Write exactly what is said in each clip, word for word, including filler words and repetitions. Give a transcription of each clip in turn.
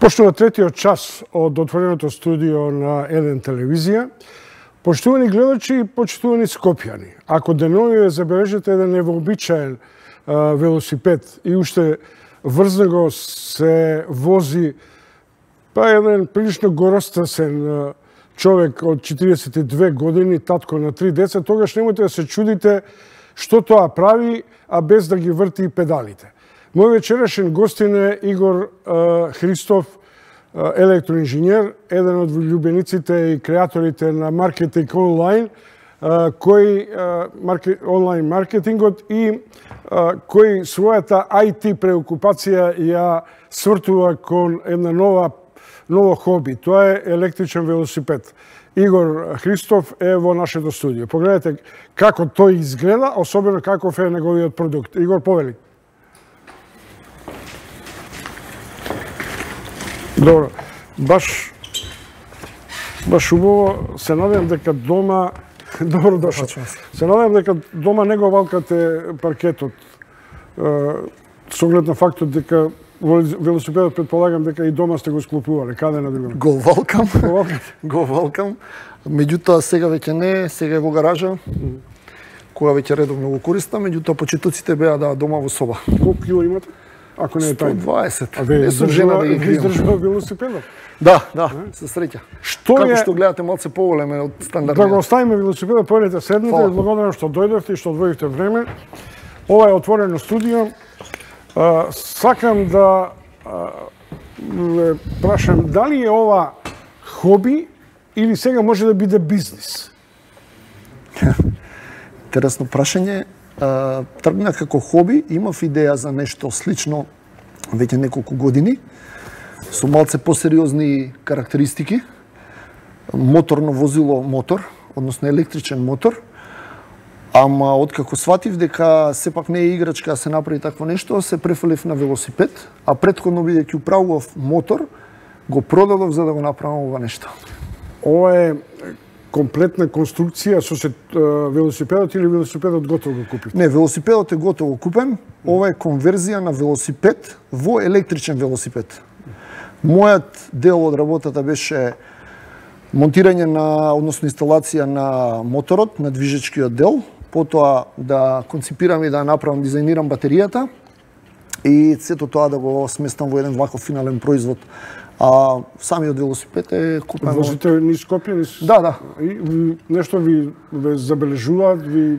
Почнува третиот час од отвореното студио на Еден телевизија. Поштувани гледачи и почитувани скопјани, ако деновиве забележите еден невообичаен велосипед и уште врз него се вози па еден прилично горостасен човек од четиридесет и две години, татко на три деца, тогаш немојте да се чудите што тоа прави, а без да ги врти педалите. Мој вечерашен гостин е Игор uh, Христов, uh, електроинженер, еден од љубениците и креаторите на маркетинг онлайн, uh, кој uh, марке, онлайн маркетингот и uh, кој својата ай ти преокупација ја свртува кон една нова ново хоби. Тоа е електричен велосипед. Игор Христов е во нашето студио. Погледнете како тој изгледа, особено каков е неговиот продукт. Игор, повели. Добро, баш, баш убаво, се надевам дека дома, добро дошол, се надевам дека дома не го валкате паркетот, со оглед на фактот дека велосипедот предполагам дека и дома сте го склопувале, каде на друго? Го валкам, го валкам, меѓутоа сега веќе не, сега е во гаража, кога веќе редовно го користам, меѓутоа почетоците беа да дома во соба. Колку кило имате? Ако не е тајно. сто дваесет. А ве жена да ги кријам. Издржува велосипедот? Да, да, со среќа. Што Како е... што гледате малце поголеме од стандардниот. Да го оставиме велосипедот, појдете седнете, благодарам што дојдовте и што одвоивте време. Ова е отворено студио. А, сакам да а, ве прашам дали е ова хоби или сега може да биде бизнис? Интересно прашање. Тргна како хоби, имав идеја за нешто слично веќе неколку години, со малце посериозни карактеристики, моторно возило мотор, односно електричен мотор, ама откако сватив дека сепак не е играчка да се направи такво нешто, се префалив на велосипед, а претходно бидејќи управував мотор, го продадов за да го направам ова нешто. Ова е комплетна конструкција со се, велосипедот или велосипедот готово го купив? Не, велосипедот е готово купен. Ова е конверзија на велосипед во електричен велосипед. Мојот дел од работата беше монтирање на, односно инсталација на моторот, на движечкиот дел, потоа да конципирам и да направам, дизајнирам батеријата и сето тоа да го сместам во еден ваков финален производ. А самиот велосипед е купен. Возите низ Скопје, низ... Да, да. И нешто ви ве забележуваат, ви е,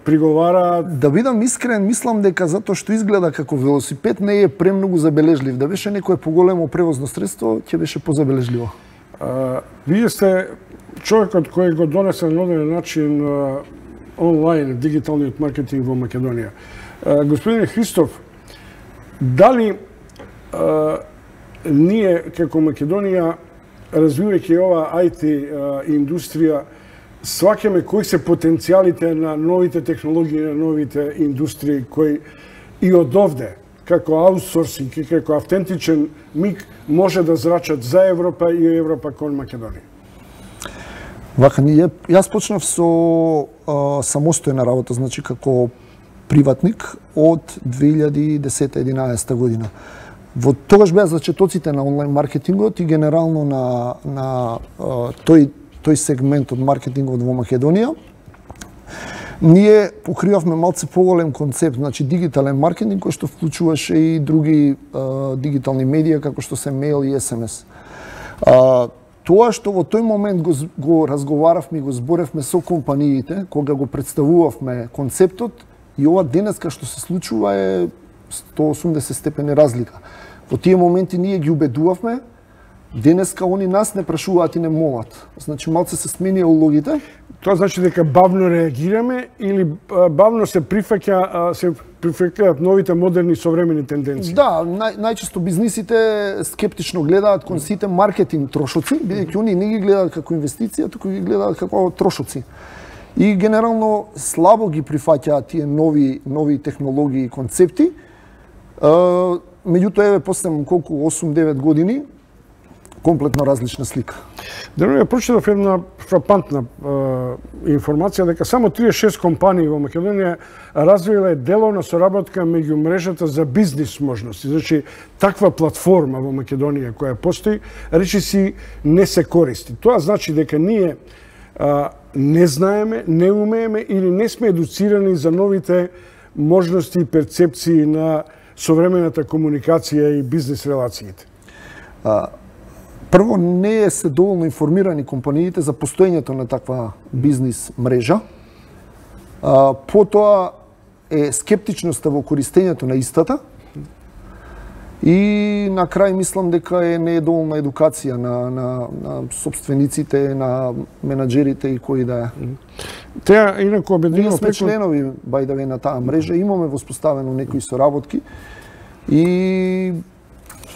приговараат? Да бидам искрен, мислам дека затоа што изгледа како велосипед не е премногу забележлив. Да беше некое поголемо превозно средство, ќе беше позабележливо. А, вие сте човекот кој го донесе на одреден начин а, онлайн, дигиталниот маркетинг во Македонија. А, господине Христов, дали а, ние како Македонија, развивајќи ова ай ти а, индустрија, сваќаме кои се потенцијалите на новите технологии, на новите индустрии, кои и од овде, како аутсорсинг и како автентичен миг, може да зрачат за Европа и Европа кон Македонија? Вака, ние, јас почнав со а, самостојна работа, значи како приватник од две илјади и десета единаесета година. Во тогаш беа зачетоците на онлайн маркетингот и генерално на, на а, тој, тој сегмент од маркетингот во Македонија. Ние покривавме малце поголем концепт, значи дигитален маркетинг кој што вклучуваше и други а, дигитални медија како што се мејл и ес ем ес. А, тоа што во тој момент го, го разговаравме и го зборевме со компаниите, кога го представувавме концептот, и ова денеска што се случува е сто осумдесет степени разлика. Во тие моменти ние ги убедувавме, денеска они нас не прашуваат и не молат. Значи малце се сменија улогите. Тоа значи дека бавно реагираме или бавно се прифаќа се прифаќаат новите модерни современи тенденции? Да, нај, најчесто бизнисите скептично гледаат кон сите маркетинг трошоци, бидејќи они не ги гледаат како инвестиција, туку ги гледаат како трошоци. И генерално слабо ги прифаќаат тие нови нови технологии и концепти. Меѓутоа, еве, после колку осум девет години, комплетно различна слика. Денес ја прочитав една фрапантна е, информација дека само триесет и шест компании во Македонија развиле деловна соработка меѓу мрежата за бизнис можности. Значи, таква платформа во Македонија која постои, речиси не се користи. Тоа значи дека ние а, не знаеме, не умееме или не сме едуцирани за новите можности и перцепции на современата комуникација и бизнес релациите. А, прво, не се доволно информирани компаниите за постоењето на таква бизнис мрежа. А, потоа е скептичноста во користењето на истата. И на крај мислам дека е не е доволна едукација на, на, на собствениците, на менаџерите и кои да е. Теа инаку обединено ние сме преку... членови бајдаве на таа мрежа, имаме воспоставено некои соработки и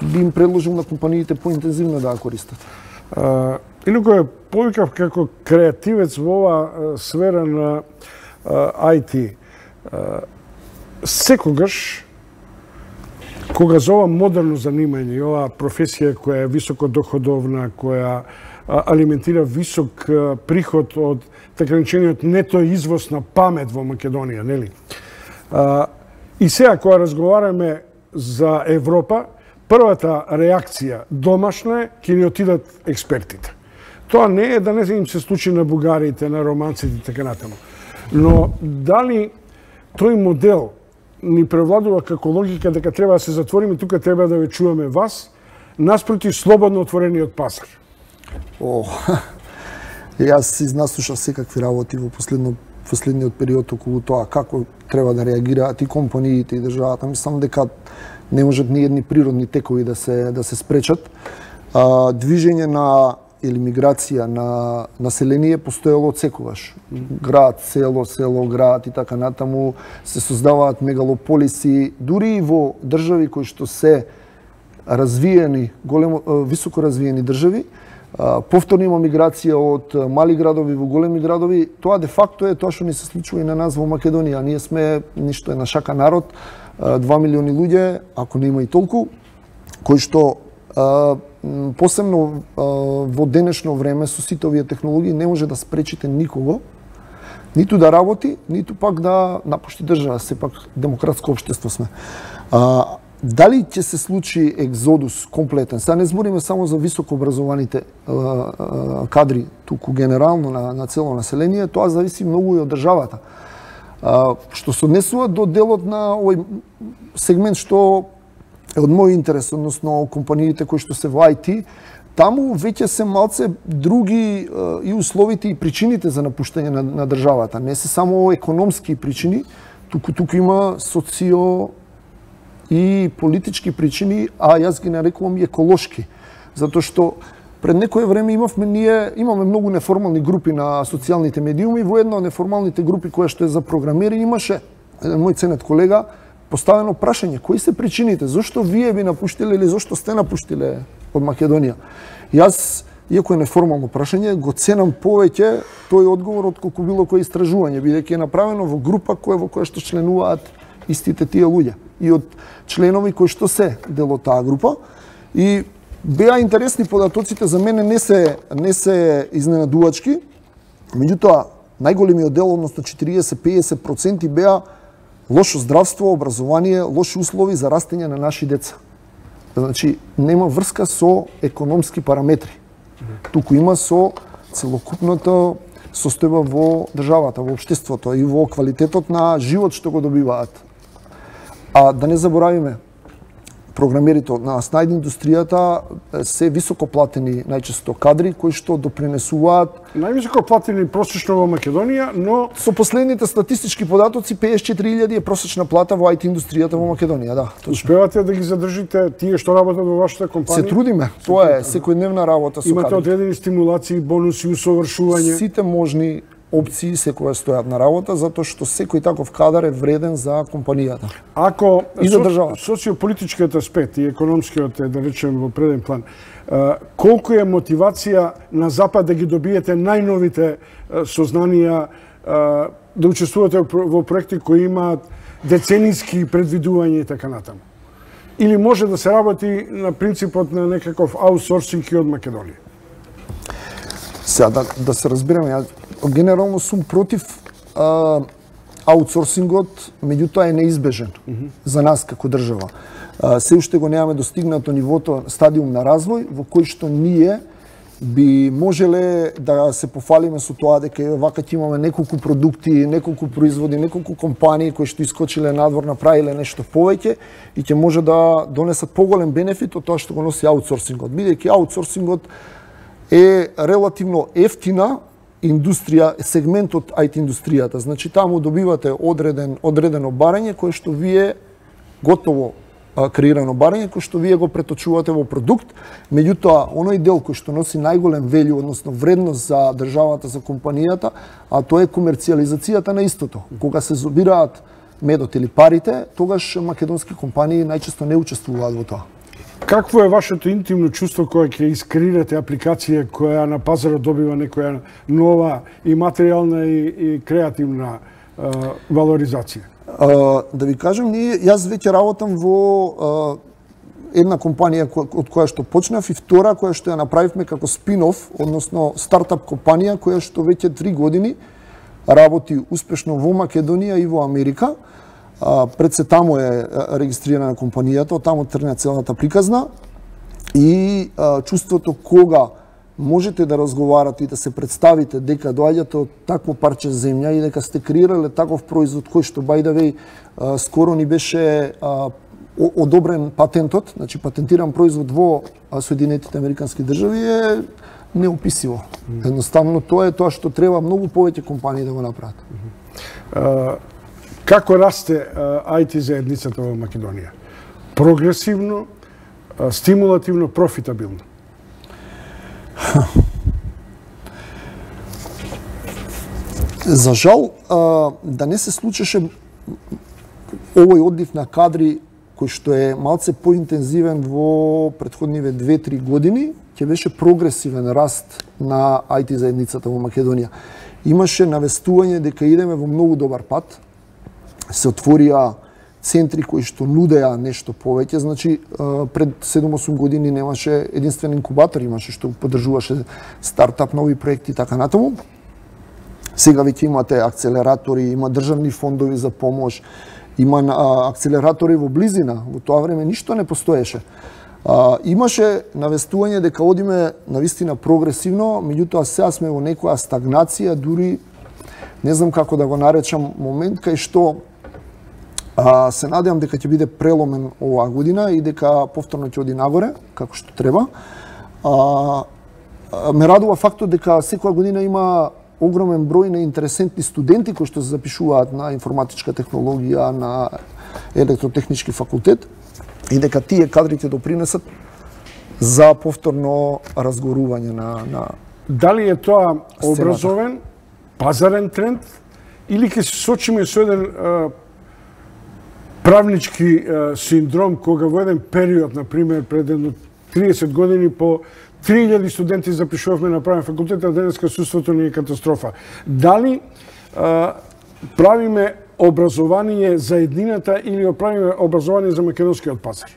би им предложил на компаниите поинтензивно да ја користат. А, инаку е повикав како креативец во ова сфера на ай ти. А, секогаш кога за ова модерно занимање и оваа професија која е високодоходовна, која алиментира висок приход од така наречениот нето извоз на памет во Македонија, нели? А, и сега кога разговараме за Европа, првата реакција домашна е ќе ни отидат експертите. Тоа не е да не им се случи на бугарите, на романците и така натаму. Но дали тој модел ни превладува како логика дека треба да се затвориме, тука треба да ве чуваме вас, наспроти слободно отворениот пазар? О, јас изнаслушав секакви работи во последно, последниот период околу тоа како треба да реагираат и компаниите и државата. Мислам дека не можат ни едни природни текови да се да се спречат. А, движење на или миграција на население постоело од секогаш. Град, село, село, град и така натаму се создаваат мегалополиси, дури и во држави кои што се развиени, големо високо развиени држави. Повторно има миграција од мали градови во големи градови. Тоа де факто е тоа што ни се случува и на нас во Македонија. Ние сме ништо е на шака народ, два милиони луѓе, ако не има и толку, кои што посебно во денешно време со сите овие технологии не може да спречите никого, ниту да работи, ниту пак да напушти држава, сепак демократско општество сме. А, дали ќе се случи екзодус комплетен? Сега не збориме само за високо образованите а, а, кадри, туку генерално на, на цело население, тоа зависи многу и од државата. А, што се однесува до делот на овој сегмент што е од мој интерес, односно компаниите кои што се во ай ти, таму веќе се малце други е, и условите и причините за напуштање на, на државата. Не се само економски причини, туку туку има социо и политички причини, а јас ги нарекувам и еколошки. Затоа што пред некое време имавме ние имаме многу неформални групи на социјалните медиуми, во една од неформалните групи која што е за програмери имаше еден мој ценет колега поставено прашање, кои се причините, зошто вие би напуштиле или зошто сте напуштиле од Македонија? Јас, иако е неформално прашање, го ценам повеќе тој одговор од колку било кој истражување, бидејќи е направено во група која во која што членуваат истите тие луѓе и од членови кои што се дел од таа група. И беа интересни податоците, за мене не се не се изненадувачки, меѓутоа најголемиот дел, односно четириесет до пеесет проценти беа лошо здравство, образование, лоши услови за растење на наши деца. Значи, нема врска со економски параметри. Туку има со целокупната состојба во државата, во општеството и во квалитетот на живот што го добиваат. А да не заборавиме, програмерите од нас, најде индустријата се високо платени најчесто кадри кои што допринесуваат највисоко платени просечно во Македонија, но со последните статистички податоци пеесет и четири илјади е просечна плата во ай ти индустријата во Македонија, да. Успевате да ги задржите тие што работат во вашата компанија? Се трудиме. Тоа е секојдневна работа со кадри. Имате одредени стимулации, бонуси, усовршување. Сите можни опции секоја стојат на работа, затоа што секој таков кадар е вреден за компанијата. Ако и за државата. Социополитичкиот аспект и економскиот е, да речем, во преден план, колку е мотивација на Запад да ги добиете најновите сознанија, да учествувате во проекти кои имаат деценијски предвидувања и така натаму? или може да се работи на принципот на некаков аутсорсинг и од Македонија? Сега, да, да се разбереме, ја генерално сум против а, аутсорсингот, меѓутоа е неизбежен mm -hmm. за нас како држава. А, се уште го немаме достигнато нивото, стадиум на развој, во кој што ние би можеле да се пофалиме со тоа дека вака ќе имаме неколку продукти, неколку производи, неколку компании кои што искочиле надвор, направиле нешто повеќе и ќе може да донесат поголем бенефит од тоа што го носи аутсорсингот. Бидејќи аутсорсингот е релативно ефтина индустрија, сегмент од ай ти индустријата. Значи таму добивате одреден одредено барање кое што вие готово креирано барање кој што вие го преточувате во продукт, меѓутоа оној дел кој што носи најголем велју, односно вредност за државата, за компанијата, а тоа е комерцијализацијата на истото. Кога се собираат медот или парите, тогаш македонски компании најчесто не учествуваат во тоа. Какво е вашето интимно чувство кога ќе искреирате апликација која на пазарот добива некоја нова и материјална и, и креативна а, валоризација? Uh, да ви кажам, ние, јас веќе работам во uh, една компанија ко, од која што почнав и втора која што ја направивме како спин-оф, односно стартап компанија која што веќе три години работи успешно во Македонија и во Америка. Uh, пред се таму е регистрирана компанијата, таму тргна целата приказна и uh, чувството кога можете да разговарате и да се представите дека доаѓате од такво парче земја и дека сте креирале таков производ кој што by the way скоро ни беше а, одобрен патентот, значи патентиран производ во Соединетите Американски држави е неописиво. Mm-hmm. Едноставно тоа е тоа што треба многу повеќе компании да го направат. Mm-hmm. uh, како расте uh, ай ти заедницата во Македонија? Прогресивно, uh, стимулативно, профитабилно? За жал, да не се случеше овој одлив на кадри кој што е малце поинтензивен во претходниве две-три години, ќе беше прогресивен раст на ай ти заедницата во Македонија. Имаше навестување дека идеме во многу добар пат. Се отворија центри кои што нудеа нешто повеќе, значи пред седум-осум години немаше единствен инкубатор, имаше што поддржуваше стартап, нови проекти и така натаму. Сега веќе имате акцелератори, има државни фондови за помош, има акцелератори во близина, во тоа време ништо не постоеше. А, имаше навестување дека одиме навистина прогресивно, меѓутоа сега сме во некоја стагнација, дури не знам како да го наречам момент кај што а, се надевам дека ќе биде преломен оваа година и дека повторно ќе оди нагоре, како што треба. А, ме радува фактот дека секоја година има огромен број на интересентни студенти кои што се запишуваат на информатичка технологија, на електротехнички факултет и дека тие кадри ќе допринесат за повторно разгорување на, на Дали е тоа образовен, пазарен тренд или ќе се сочиме со еден а, правнички а, синдром кога во еден период, например, пред едно триесет години по три илјади студенти запишувавме на правен факултет, а денеска судството ни е катастрофа. Дали а, правиме образование за еднината или правиме образование за македонскиот пазар?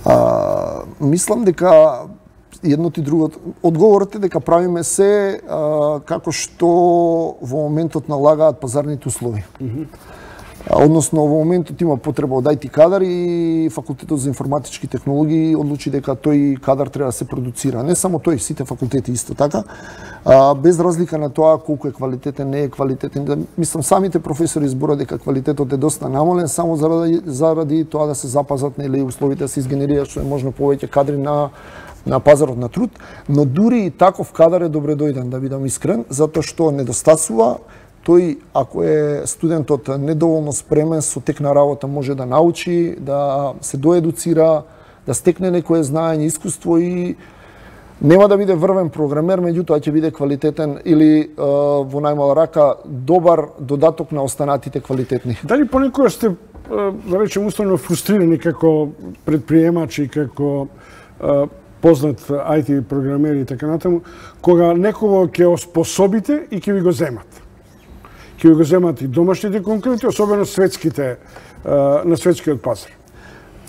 А, мислам дека едното и другото. Одговорот е дека правиме се а, како што во моментот налагаат пазарните услови. Mm-hmm. Односно, во моментот има потреба од ай ти кадар и факултетот за информатички технологии одлучи дека тој кадар треба да се продуцира. Не само тој, сите факултети исто така. А, без разлика на тоа колку е квалитетен, не е квалитетен. Мислам, самите професори зборат дека квалитетот е доста намален, само заради, заради тоа да се запазат нели условите да се изгенерираат што е можно повеќе кадри на на пазарот на труд, но дури и таков кадар е добре дојден, да бидам искрен, затоа што недостасува. Тој, ако е студентот недоволно спремен, со тек на работа може да научи, да се доедуцира, да стекне некое знаење, искуство и нема да биде врвен програмер, меѓутоа ќе биде квалитетен или е, во најмала рака добар додаток на останатите квалитетни. Дали понекогаш сте, да речем, уставно фрустрирани како предприемачи, како е, познат ай ти програмер и така натаму, кога некого ќе оспособите и ќе ви го земат? Ќе го земат и домашните конкуренти, особено светските, на светскиот пазар.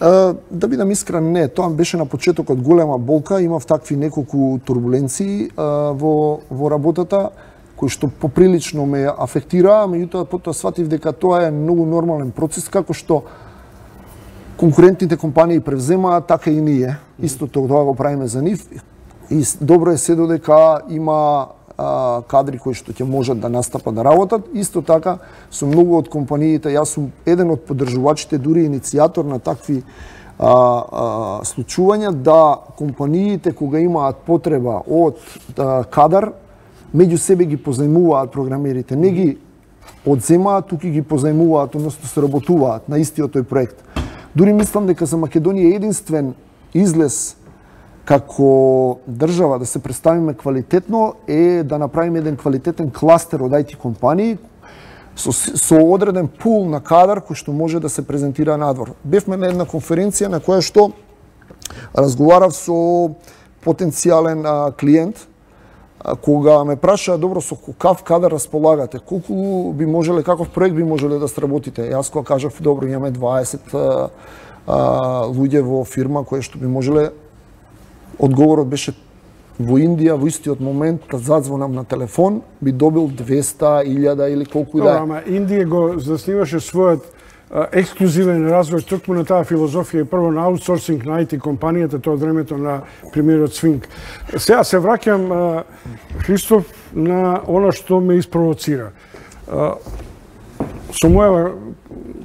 Да бидам искрен, не, тоа беше на почетокот голема болка, имав такви неколку турбуленции во во работата кои што поприлично ме афектираа, меѓутоа потоа сватив дека тоа е многу нормален процес, како што конкурентните компании превземаат, така и ние. Исто тоа го правиме за нив. И добро е се додека има а, кадри кои што ќе можат да настапат да работат. Исто така, со многу од компаниите, јас сум еден од поддржувачите, дури иницијатор на такви а, а, случувања, да компаниите кога имаат потреба од а, кадар, меѓу себе ги позајмуваат програмерите, не ги одземаат, туку ги позајмуваат, односно сработуваат на истиот тој проект. Дури мислам дека за Македонија единствен излез како држава да се представиме квалитетно е да направиме еден квалитетен кластер од ай ти компании со, со одреден пул на кадар кој што може да се презентира надвор. Бевме на една конференција на која што разговарав со потенцијален а, клиент, а, кога ме праша, добро, со какав кадар располагате, колку би можеле, каков проект би можеле да сработите. Јас кога кажав, добро, имаме дваесет а, а, луѓе во фирма кои што би можеле. Одговорот беше во Индија, во истиот момент, да задзвонам на телефон, би добил двеста илјада или колку и да е. Ама Индија го засниваше својот а, ексклузивен развој токму на таа филозофија и прво на аутсорсинг на ай ти компанијата, тоа од времето на премиерот Свинг. Сега се враќам, а, Христоф, на она што ме испровоцира. А, со моја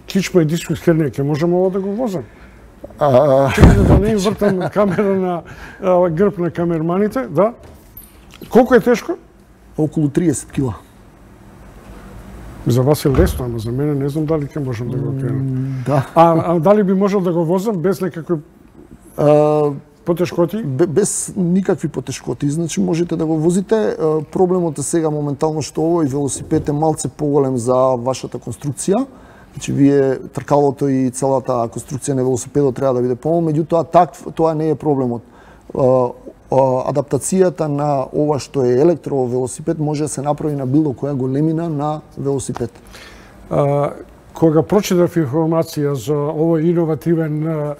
кичма и дискус хернија, ќе можам ово да го возам? А... Чекайте да не им вртам камера на а, грб на камерманите, да? Колку е тешко? Околу триесет кила. За вас е лесно, ама за мене не знам дали ќе можам да го кренам. Да. А, а дали би можел да го возам без некакви а, потешкоти? Без никакви потешкоти, значи можете да го возите. Проблемот е сега моментално што овој велосипед е малце поголем за вашата конструкција. Значи, вие тркалото и целата конструкција на велосипедот треба да биде помал, меѓутоа так, тоа не е проблемот. Адаптацијата на ова што е електровелосипед може да се направи на било која големина на велосипед. А, кога прочитав информација за овој иновативен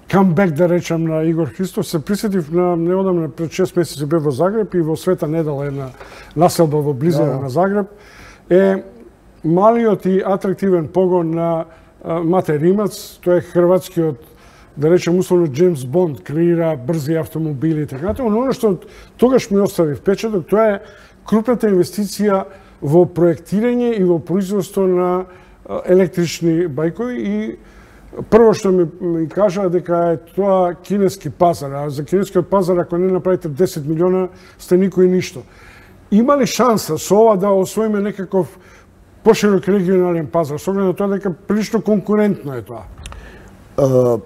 камбек, да речам, на Игор Христов, се присетив на неодамна, пред шест месеци бев во Загреб и во Света Недела, една населба во близина да. на Загреб, е малиот и атрактивен погон на Мате Римац. Тоа е хрватскиот, да речем условно, Джеймс Бонд, креира брзи автомобили и така натаму. Но оно што тогаш ми остави впечаток, тоа е крупната инвестиција во проектирање и во производство на електрични бајкови. И прво што ми, ми кажа дека е тоа кинески пазар, а за кинескиот пазар ако не направите десет милиона сте никој ништо. Има ли шанса со ова да освоиме некаков поширок регионален пазар, со оглед на тоа дека прилично конкурентно е тоа? Uh,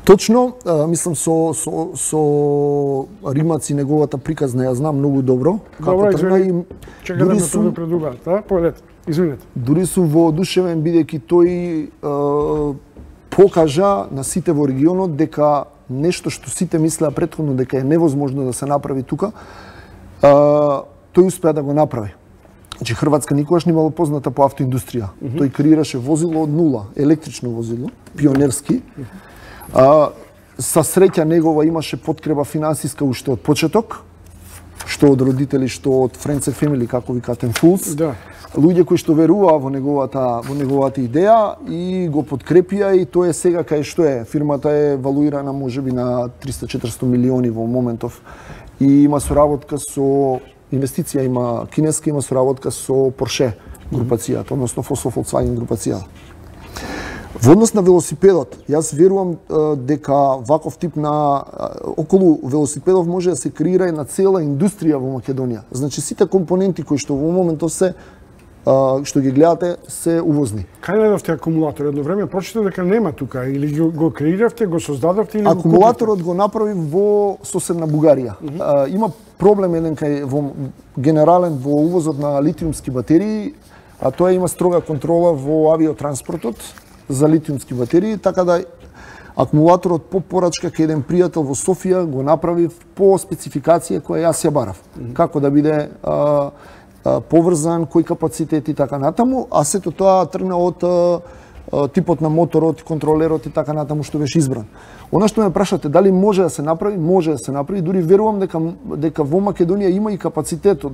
точно, uh, мислам со, со, со Римац и неговата приказна ја знам многу добро. Добро, извини, чека да ме тоа предугаат, да? Поведете, извинете. Дури сум воодушевен, бидејќи тој uh, покажа на сите во регионот дека нешто што сите мислеа претходно дека е невозможно да се направи тука, uh, тој успеа да го направи. Значи, Хрватска никогаш не имала позната по автоиндустрија. Mm -hmm. Тој креираше возило од нула, електрично возило, пионерски. Mm -hmm. а, са среќа негова имаше подкрепа финансиска уште од почеток, што од родители, што од Friends and Family, како викатен Fools. Да. Луѓе кои што веруваа во неговата во неговата идеја и го подкрепија, и тоа е сега кај што е. Фирмата е валуирана можеби на триста до четиристотини милиони во моментов и има соработка со инвестиција, има кинеска, има соработка со Porsche групацијата, односно со Volkswagen групацијата. Во однос на велосипедот, јас верувам дека ваков тип на околу велосипедов може да се креира една цела индустрија во Македонија. Значи сите компоненти кои што во моментот се што ги гледате се увозни. Кај најдовте акумулатор? Едно време прочитав дека нема тука, или го креиравте, го создадовте или акумулаторот го направи во соседна Бугарија. Mm -hmm. Има проблем еден кај во генерален во увозот на литиумски батерии, а тоа има строга контрола во авиотранспортот за литиумски батерии, така да акумулаторот по порачка кај еден пријател во Софија го направи по спецификација која јас ја барав. Mm -hmm. Како да биде а, поврзан, кој капацитет и така натаму, а сето тоа тргна од типот на моторот, контролерот и така натаму што беше избран. Она што ме прашате дали може да се направи, може да се направи, дури верувам дека дека во Македонија има и капацитетот,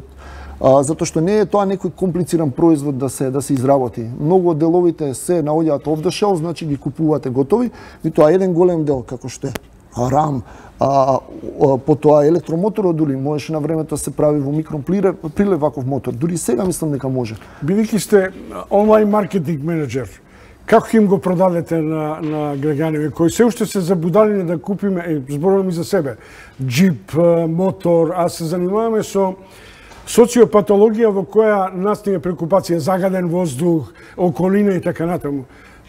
а, затоа што не е тоа некој комплициран производ да се да се изработи. Многу од деловите се наоѓаат off the shelf, значи ги купувате готови, и тоа еден голем дел како што е рам, а, а, потоа електромоторот дури можеше на времето да се прави во микроприлев ваков мотор. Дури сега мислам дека може. Бидејќи сте онлайн маркетинг менеджер, како им го продадете на, на граѓаните кои се уште се забудалени да купиме, е, зборувам и за себе, джип, мотор, а се занимаваме со социопатологија во која настине прекупација, загаден воздух, околина и така натаму.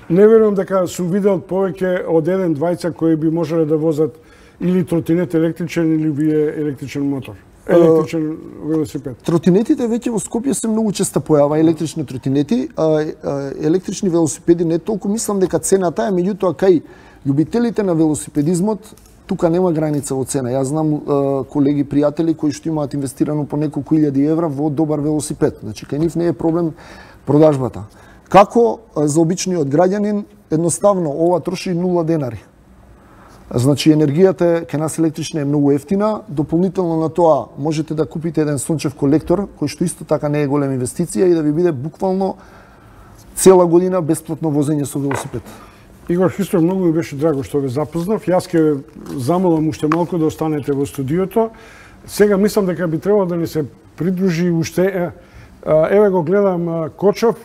Не верувам дека сум видел повеќе од еден двајца кои би можеле да возат или тротинет електричен или вие електричен мотор. Електричен велосипед. Тротинетите веќе во Скопје се многу често појава, електрични тротинети, а, а електрични велосипеди не толку, мислам дека цената е, меѓутоа кај љубителите на велосипедизмот тука нема граница во цена. Јас знам а, колеги, пријатели кои што имаат инвестирано по неколку илјади евра во добар велосипед. Значи кај нив не е проблем продажбата. Како за обичниот граѓанин, едноставно ова троши нула денари. Значи енергијата кај нас електрична е многу ефтина, дополнително на тоа можете да купите еден сончев колектор кој што исто така не е голема инвестиција и да ви биде буквално цела година бесплатно возење со велосипед. Игор Христов, многу ми беше драго што ве запознав. Јас ќе замолам уште малку да останете во студиото. Сега мислам дека би требало да ни се придружи уште, еве го гледам Кочов,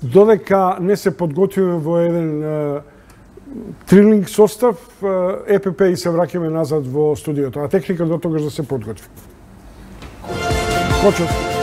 додека не се подготвиме во еден трилинг состав, ЕПП и се враќаме назад во студиото, а техника до тогаш да се подготви. Кочов.